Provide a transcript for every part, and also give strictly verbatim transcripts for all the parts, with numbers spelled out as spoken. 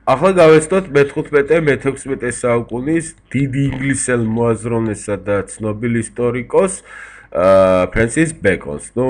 ახლა გავეცდოთ მეთხუთმეტე მეთექვსმეტე საუკუნის დიდი ინგლისელ მოაზროვნესა და ცნობილ ისტორიკოს ფრენსის ბეკონს. ნუ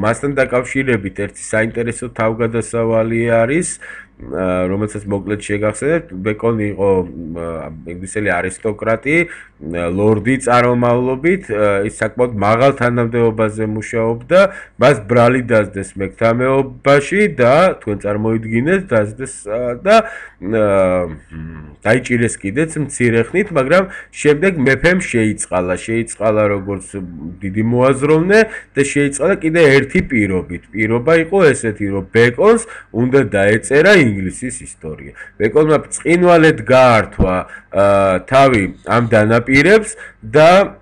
მასთან დაკავშირებით ერთი საინტერესო თავგადასავალი არის, რომელსაც მოკლედ შეგახსენებთ. ბეკონი იყო ინგლისელი არისტოკრატი, ლორდი წარმომავლობით, ის საკმაოდ მაღალ თანამდებობაზე მუშაობდა, მას ბრალი დასდეს მეკთამეობაში და თქვენ წარმოიდგინეთ დასდეს და დაიჭირეს კიდეც მცირე ხნით, მაგრამ შემდეგ მეფემ შეიწყალა, შეიწყალა როგორც დიდი მოაზროვნე და შეიწყალა კიდე ერთი პირობით. პირობა იყო ესეთი, რომ ბეკონს უნდა დაეწერა ინგლისის ისტორია. ბეკონმა ბრწყინვალედ გაართვა თავი ამ დანაპირებს და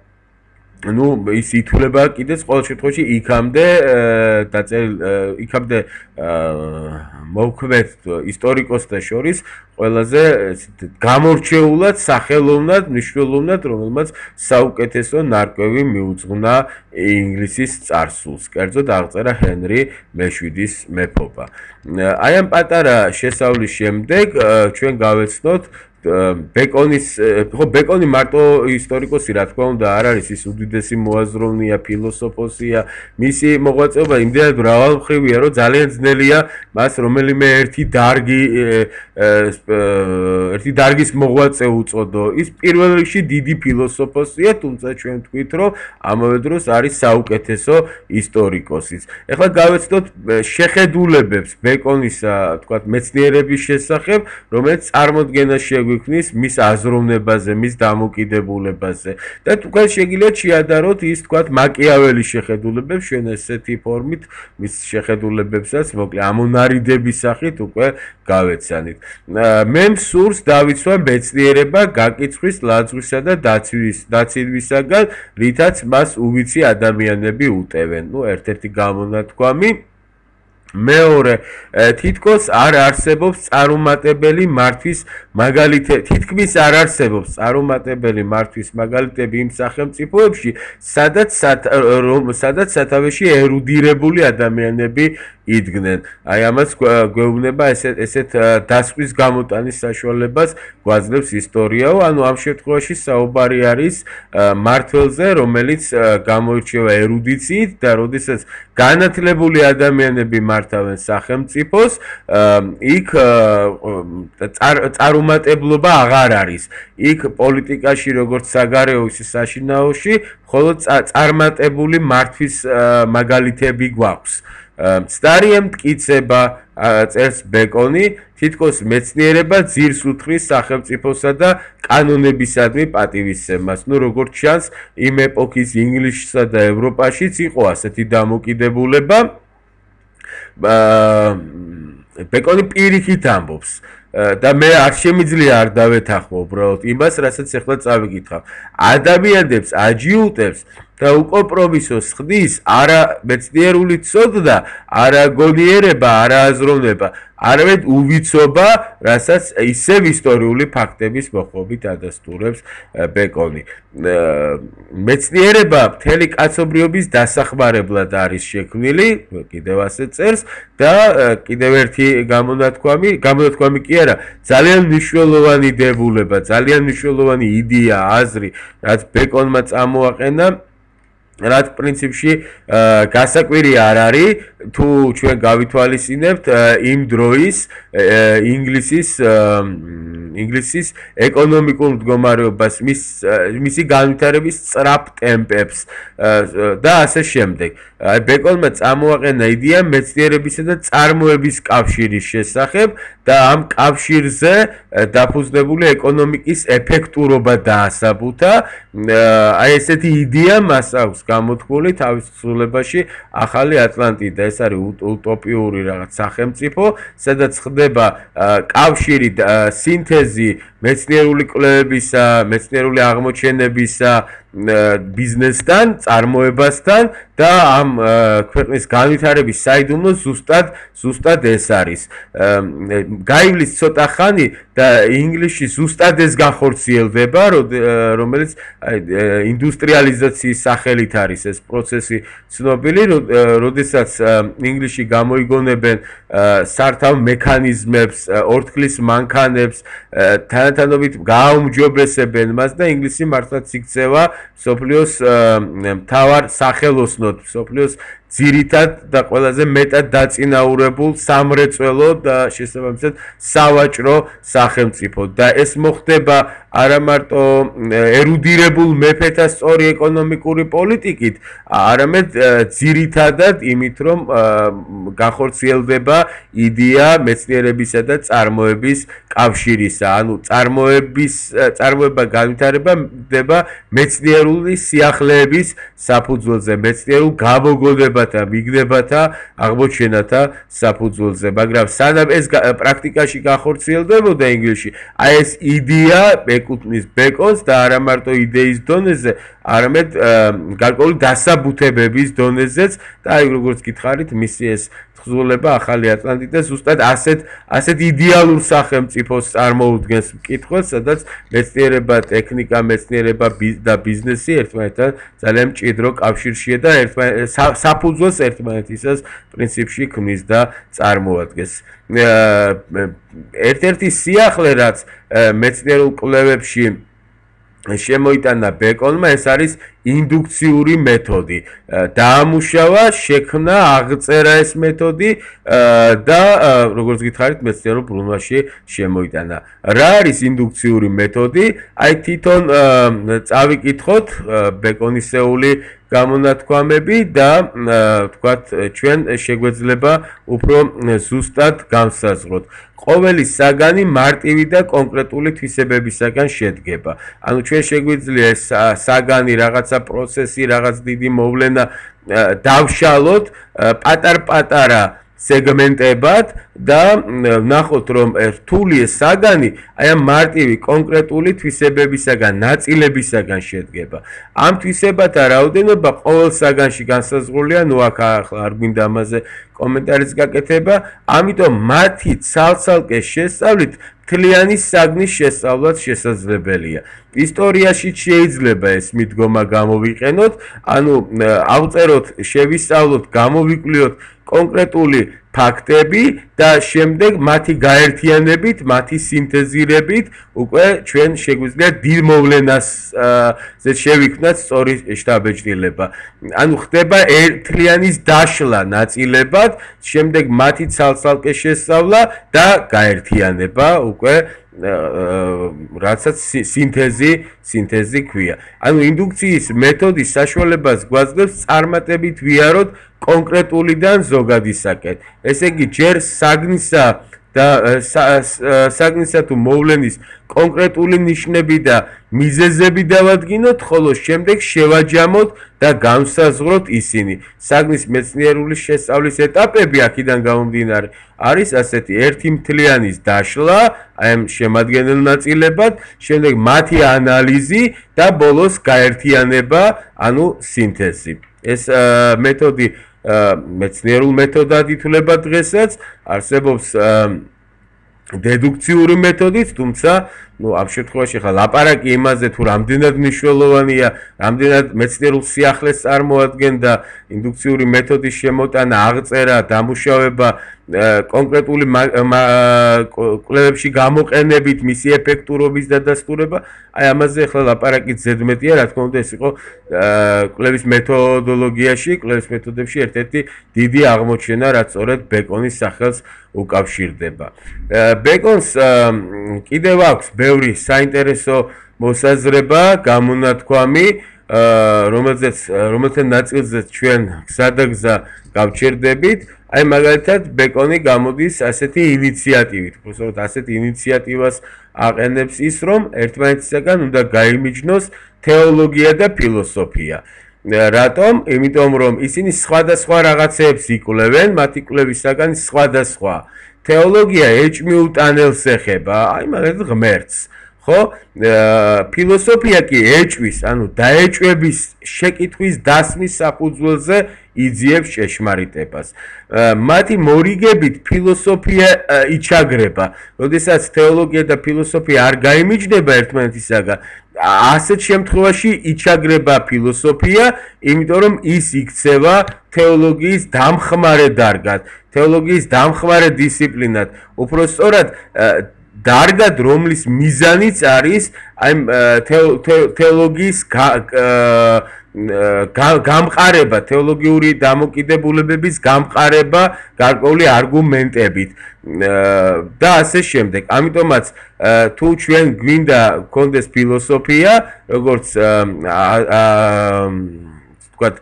ну, ის ითვლება კიდეც ყოველ შემთხვევაში იქამდე დაწერილ იქამდე მოქმედ ისტორიკოსთა შორის ყველაზე გამორჩეულად სახელოვნად, მნიშვნელოვნად, რომელმაც საუკეთესო ნარკვევი მიუძღვნა ინგლისის წარსულს. კერძოდ აღწერა ჰენრი მეშვიდის მეფობა. აი ამ პატარა შესავლის შემდეგ ჩვენ გავეცნოთ ბეკონის, ხო, ბეკონი მარტო ისტორიკოსი, რა თქმა უნდა, არ არის, ის უდიდესი მოაზროვნეა, ფილოსოფოსია, მისი მოღვაწეობა იმდენად მრავალმხრივია, რომ ძალიან ძნელია მას რომელიმე ერთი დარგი ერთი დარგის მოღვაწე უწოდო. ის პირველ რიგში დიდი ფილოსოფოსია, თუმცა ჩვენ ვთქვით, რომ ამავე დროს არის საუკეთესო ისტორიკოსიც. ეხლა გავეცდოთ შეხედულებებს ბეკონისა, თქვათ, მეცნიერების შესახებ, რომელიც წარმოდგენას შეგვიძლია გვიქნის მის აზროვნებაზე, მის დამოკიდებულებაზე და თქვენ შეგიძლიათ შეადაროთ ის თქვათ მაკიაველის შეხედულებებს, ჩვენ ესეთი ფორმით მის შეხედულებებსაც მოკლე ამონარიდების სახით უკვე გავეცანით. მე მსურს დავიცვა მეცნიერება გაკიცხვის, ლაძღვისა და დაცვის დაცივისაგან, რითაც მას უვიცი ადამიანები უტევენ. ნუ ერთ-ერთი გამონათქვამი მეორე თითქოს არ არსებობს წარუმატებელი მართვის მაგალითები, თითქმის არ არსებობს წარუმატებელი მართვის მაგალითები იმ სახელმწიფოებში, სადაც სადაც სათავეში ერუდირებული ადამიანები იდგნენ. აი ამას გვეუბნება ესეთ ესეთ დასკვის გამოტანის საშუალებას გვაძლევს ისტორიაო, ანუ ამ შემთხვევაში საუბარი არის მმართველზე, რომელიც გამოირჩევა ერუდიციით და როდესაც განათლებული ადამიანები მართავენ სახელმწიფოს, იქ წარუმატებლობა აღარ არის. იქ პოლიტიკაში როგორც საგარეო, ისე საშინაოში მხოლოდ წარმატებული მართვის მაგალითები გვაქვს. მცდარია მტკიცება, წერს ბეკონი, თითქოს მეცნიერება ძირს უთხრის სახელმწიფოსა და კანონებისადმი პატივისცემას. ნუ როგორც ჩანს, იმ ეპოქის ინგლისსა და ევროპაშიც იყო ასეთი დამოკიდებულება. ბეკონი პირიქით ამბობს და მე არ შემიძლია არ დავეთანხმო უბრალოდ იმას, რასაც ახლა წავიკითხავ. ადამიანებს აჯიუტებს და უკომპრომისოს ხდის არა მეცნიერული ცოდნა, არა გონიერება, არა აზროვნება, არამედ უვიცობა, რასაც ისევ ისტორიული ფაქტების მოხმობით ადასტურებს ბეკონი. მეცნიერება მთელი კაცობრიობის დასახმარებლად არის შექმნილი, კიდევ ასე წერს და კიდევ ერთი გამონათქვამი, გამონათქვამი კი არა, ძალიან მნიშვნელოვანი დებულება, ძალიან მნიშვნელოვანი იდეა, აზრი, რაც ბეკონმა წამოაყენა, რაც პრინციპში გასაკვირი არ არის, თუ ჩვენ გავითვალისწინებთ იმ დროის ინგლისის ინგლისის ეკონომიკურ მდგომარეობას, მის მისი განვითარების სწრაფ ტემპებს და ასე შემდეგ. ბეკონმა წამოაყენა იდეა მეცნიერებისა და წარმოების კავშირის შესახებ და ამ კავშირზე დაფუძნებული ეკონომიკის ეფექტურობა დაასაბუთა. აი ესეთი იდეა მას აქვს გამოთქმული თავის თხზულებაში ახალი ატლანტიდა. ეს არის უტოპიური რაღაც სახელმწიფო, სადაც ხდება კავშირი, სინთეზი მეცნიერული კვლევებისა, მეცნიერული აღმოჩენებისა ბიზნესთან, წარმოებასთან და ამ ქვეყნის განვითარების საიდუმლო ზუსტად ზუსტად ეს არის. გაივლის ცოტა ხანი და ინგლისში ზუსტად ეს განხორციელდება, რომელიც ინდუსტრიალიზაციის სახელით არის ეს პროცესი ცნობილი, როდესაც ინგლისში გამოიგონებენ სართავ მექანიზმებს, ორთქლის მანქანებს, თანათანობით გააუმჯობესებენ მას და ინგლისი მართლაც იქცევა მსოფლიოს მთავარ სახელოსნოდ, მსოფლიოს ძირითად და ყველაზე მეტად დაწინაურებულ სამრეწველო და შესაბამისად სავაჭრო სახელმწიფოდ და ეს მოხდება არა მარტო ერუდირებულ მეფეთა სწორი ეკონომიკური პოლიტიკით, არამედ ძირითადად იმით, რომ განხორციელდება იდეა მეცნიერებისა და წარმოების კავშირისა, ანუ წარმოების წარმოება განვითარება ხდება მეცნიერული სიახლეების საფუძველზე, მეცნიერულ გამოგონებათა, მიგდებათა, აღმოჩენათა საფუძველზე, მაგრამ სანამ ეს პრაქტიკაში განხორციელდებოდა ინგლისში, აი ეს იდეა ეკუთვნის ბეკონს და არა მარტო იდეის დონეზე, არამედ გარკვეული დასაბუთებების დონეზეც და აი როგორც გითხარით, მისი ეს თხზულება ახალი ატლანტიდა ზუსტად ასეთ ასეთ იდეალურ სახელმწიფოს წარმოუდგენს მკითხველს, სადაც მეცნიერება, ტექნიკა, მეცნიერება და ბიზნესი ერთმანეთთან ძალიან მჭიდრო კავშირშია და საფუძველს ერთმანეთისას პრინციპში ქმნის და წარმოადგენს. ერთ-ერთი სიახლე, რაც მეცნიერულ კვლევებში შემოიტანა ბეკონმა, ეს არის ინდუქციური მეთოდი. დაამუშავა, შექმნა, აღწერა ეს მეთოდი და როგორც გითხარით, მეცნიერულ ბრუნვაში შემოიტანა. რა არის ინდუქციური მეთოდი? აი თვითონ წავიკითხოთ ბეკონისეული გამონათქვამები და თქვათ ჩვენ შეგვეძლება უფრო ზუსტად განსაზღვროთ. ყოველი საგანი მარტივი და კონკრეტული თვისებებისაგან შედგება. ანუ ჩვენ შეგვიძლია ეს საგანი, რაღაცა პროცესი, რაღაც დიდი მოვლენა დავშალოთ პატარ-პატარა სეგმენტებად და ვნახოთ, რომ რთული ეს საგანი აი ამ მარტივი კონკრეტული თვისებებისაგან, ნაწილებისაგან შედგება. ამ თვისებათა რაოდენობა ყოველ საგანში განსაზღვრულია, ნუ აქ ახლა არ გვინდა ამაზე კომენტარის გაკეთება, ამიტომ მათი ცალ-ცალკე შესწავლით მთლიანი საგნის შესწავლაც შესაძლებელია. ისტორიაში შეიძლება ეს მიდგომა გამოვიყენოთ, ანუ ავწეროთ, შევისწავლოთ, გამოვიკვლიოთ კონკრეტული ფაქტები და შემდეგ მათი გაერთიანებით, მათი სინთეზირებით უკვე ჩვენ შეგვიძლია დიდ მოვლენაზე შევიქმნათ სწორი შთაბეჭდილება. ანუ ხდება ერთთლიანის დაშლა ნაწილებად, შემდეგ მათი ცალ-ცალკე შესწავლა და გაერთიანება უკვე რაცაც სინთეზი, სინთეზი ქვია. ანუ ინდუქციის მეთოდის საშუალებას გვაძლევს წარმატებით ვიაროთ კონკრეტულიდან ზოგადისაკენ. ესე იგი, ჯერ საგნისა და საგნისა თუ მოვლენის კონკრეტული ნიშნები და მიზეზები დავადგინოთ, ხოლო შემდეგ შევაჯამოთ და განსაზღვროთ ისინი. საგნის მეცნიერული შესწავლის ეტაპები აქედან გამომდინარე არის ასეთი: ერთი მთლიანის დაშლა, აი ამ შემადგენელ ნაწილებად, შემდეგ მათი ანალიზი და ბოლოს გაერთიანება, ანუ სინთეზი. ეს მეთოდი მეცნიერულ მეთოდად ითვლება დღესაც, არსებობს დედუქციური მეთოდით, თუმცა ну, ამ შემთხვევაში ხა ლაპარაკი იმაზე თუ რამდენად მნიშვნელოვანია, რამდენად მეცნიერულ სიახლეს წარმოადგენდა ინდუქციური მეთოდის შემოტანა, აღწერა, დამუშავება, კონკრეტული კვლევებში გამოყენებით, მისი ეფექტურობის დადასტურება, აი ამაზე ხა ლაპარაკი ზედმეტია, რა თქმა უნდა, ეს იყო კვლევის მეთოდოლოგიაში, კვლევის მეთოდებში ერთ-ერთი დიდი აღმოჩენა, რაც სწორედ ბეკონის სახელს უკავშირდება. ბეკონს კიდევ აქვს ბევრი საინტერესო მოსაზრება, გამონათქვამი, რომელზეც რომელთა ნაწილზეც ჩვენ გზადაგზა გავჩერდებით. აი მაგალითად ბეკონი გამოდის ასეთი ინიციატივით, უბრალოდ ასეთ ინიციატივას აყენებს ის, რომ ერთმანეთისაგან უნდა გაიმიჯნოს თეოლოგია და ფილოსოფია. რატომ? იმიტომ რომ ისინი სხვადასხვა რაღაცეებს იკვლევენ, მათი კვლევის საგანი სხვადასხვა. თეოლოგია ეჭმიუტანელს ეხება, აი მაგალითად ღმერთს, ხო? ფილოსოფია კი ეჭვის, ანუ დაეჭვების შეკითხვის დასმის საფუძველზე იძიებს ჭეშმარიტებას. მათი მორიგებით ფილოსოფია იჩაგრება. როდესაც თეოლოგია და ფილოსოფია არ გაიმიჯნება ერთმანეთისაგან, ასეთ შემთხვევაში იჩაგრება ფილოსოფია, იმიტომ რომ ის იქცევა თეოლოგიის დამხმარე დარგად, თეოლოგიის დამხმარე დისციპლინად. უფრო სწორად დარგად, რომლის მიზანიც არის აი თეოლოგიის გამყარება, თეოლოგიური დამოკიდებულებების გამყარება გარკვეული არგუმენტებით და ასე შემდეგ. ამიტომაც თუ ჩვენ გვინდა გქონდეს ფილოსოფია, როგორც ვთქვათ,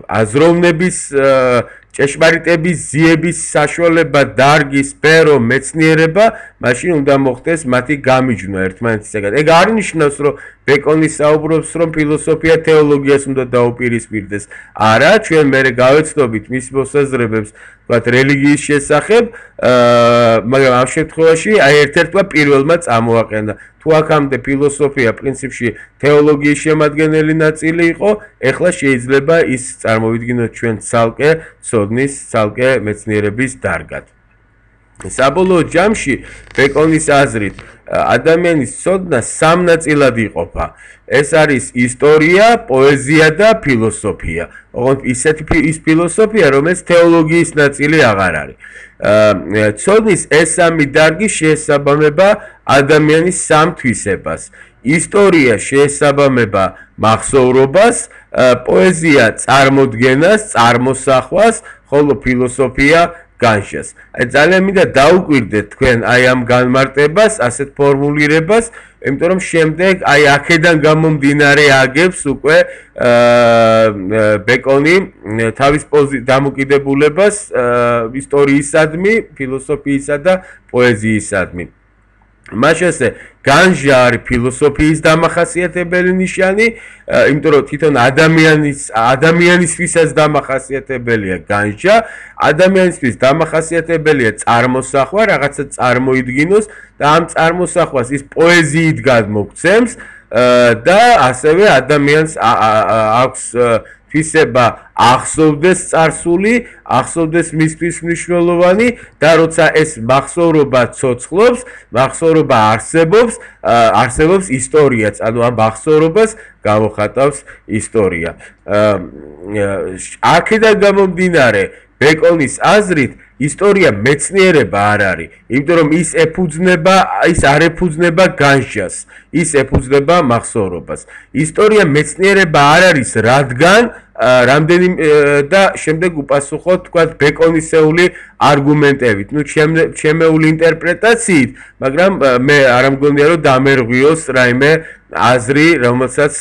აზროვნების ჭეშმარიტების ზიების საშუალება, დარგი, სფერო, მეცნიერება, მაშინ უნდა მოხდეს მათი გამიჯვნა ერთმანეთისაგან. ეგ არ ნიშნავს, რომ ბეკონი საუბრობს, რომ ფილოსოფია თეოლოგიას უნდა დაუპირისპირდეს. არა, ჩვენ მერე გავეცნობით მის მოსაზრებებს, ვთქვათ, რელიგიის შესახებ, მაგრამ ამ შემთხვევაში აი ერთ-ერთმა პირველმა წამოაყენა. თუ აქამდე ფილოსოფია პრინციპში თეოლოგიის შემადგენელი ნაწილი იყო, ეხლა შეიძლება ის წარმოვიდგინოთ ჩვენ ცალკე ცოდნის, ცალკე მეცნიერების დარგად. საბოლოო ჯამში ბეკონის აზრით ადამიანის ცოდნა სამ ნაწილად იყოფა. ეს არის ისტორია, პოეზია და ფილოსოფია. ოღონდ ისეთი ის ფილოსოფია, რომელიც თეოლოგიის ნაწილი აღარ არის. ცოდნის ეს სამი დარგი შეესაბამება ადამიანის სამ თვისებას. ისტორია შეესაბამება მახსოვრობას, პოეზია წარმოდგენას, წარმოსახვას, ხოლო ფილოსოფია განშას. აი ძალიან მინდა დაუკვირდეთ თქვენ აი ამ განმარტებას, ასეთ ფორმულირებას, იმიტომ რომ შემდეგ აი აქედან გამომდინარე აგებს უკვე ბეკონი თავის დამოკიდებულებას ისტორიისადმი, ფილოსოფიისა და პოეზიისადმი. მაშასე განჟა არის ფილოსოფიის დამახასიათებელი ნიშანი, იმიტომ რომ თვითონ ადამიანის ადამიანისთვისაც დამახასიათებელია განჟა, ადამიანისთვის დამახასიათებელია წარმოსახვა, რაღაცა წარმოიდგინოს და ამ წარმოსახვას ის პოეზიით გადმოგცემს და ასევე ადამიანს აქვს თვისება ახსოვდეს წარსული, ახსოვდეს მისთვის მნიშვნელოვანი და როცა ეს მახსოვრობა ცოცხლობს, მახსოვრობა არსებობს, არსებობს ისტორიაც, ანუ ამ მახსოვრობას გამოხატავს ისტორია. აქედან გამომდინარე, ბეკონის აზრით ისტორია მეცნიერება არ არის, იმიტომ რომ ის ეფუძნება, ის არ ეფუძნება განჟას, ის ეფუძნება მახსოვრობას. ისტორია მეცნიერება არ არის, რადგან რამდენი და შემდეგ უპასუხოთ, თქვათ, ბეკონისეული არგუმენტებით, ну, ჩემეული ინტერპრეტაციით, მაგრამ მე არ მგონია, რომ დამერღვიოს რაიმე აზრი, რომელსაც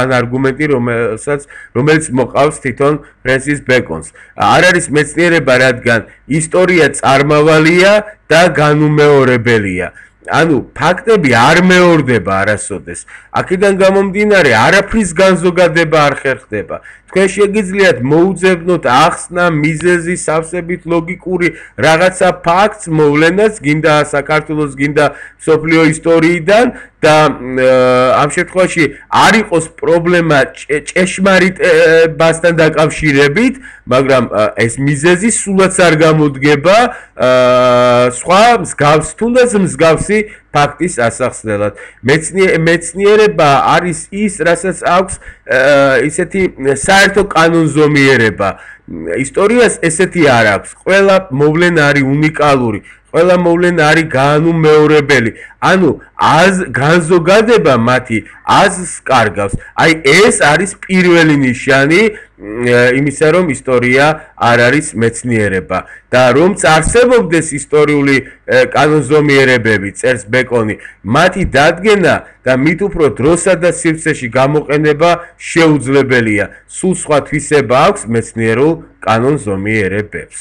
ან არგუმენტი, რომელსაც რომელიც მოყავს თვითონ ფრენსის ბეკონს. არ არის მეცნიერება, რადგან ისტორია წარმავალია და განუმეორებელია. ანუ ფაქტები არ მეორდება არასოდეს. აქედან გამომდინარე, არაფრის განზოგადება არ ხერხდება. თქვენ შეგიძლიათ მოუძებნოთ ახსნა, მიზეზი, სავსებით ლოგიკური რაღაცა ფაქტს მოვლენას, გინდა საქართველოს, გინდა მსოფლიო ისტორიიდან და ამ შემთხვევაში არ იყოს პრობლემა ჭეშმარიტებასთან დაკავშირებით, მაგრამ ეს მიზეზი სულაც არ გამოდგება სხვა მსგავს, თუნდაც მსგავსი ფაქტის ასახსნელად. მეცნიერება არის ის, რასაც აქვს ისეთი საერთო კანონზომიერება. ისტორიას ესეთი არ აქვს. ყველა მოვლენა არის უნიკალური. ყველა მოვლენა არის განუმეორებელი. ანუ აზ განზოგადება მათი აზრს კარგავს. აი ეს არის პირველი ნიშანი იმისა, რომ ისტორია არ არის მეცნიერება და რომც არსებობდეს ისტორიული კანონზომიერებები, წერს ბეკონი, მათი დადგენა და მით უფრო დროსა და სივრცეში გამოყენება შეუძლებელია. სულ სხვა თვისება აქვს მეცნიერულ კანონზომიერებებს.